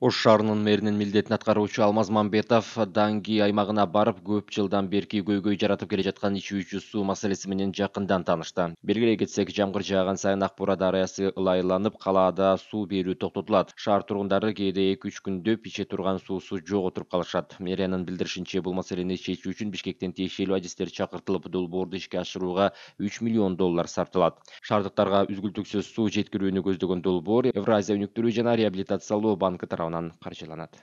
Ош шаарынын мэринин милдетин аткаруучу Алмаз Мамбетов Данги аймагына барып, көп жылдан берки көйгөй жаратып келе жаткан ичүүчү суу маселеси менен жакындан таанышты. Белгилей кетсек, жамгыр жааган сайын Ак Бура дарыясы ылайланып, калаада суу берүү токтотулат. Шаар тургундары кээде 2-3 күндөп иче турган суусу жок отуруп калышат. Мэриянын билдиришинче, бул маселени чечүү үчүн Бишкектен тиешелүү адистер чакыртылып, долбоорду ишке ашырууга $3 миллион сарпталат. Шаардыктарга үзгүлтүксүз суу жеткирүүнү көздөгөн долбоор Евразия өнүктүрүү жана реабилитациялоо банкы тарабынан каржыланат.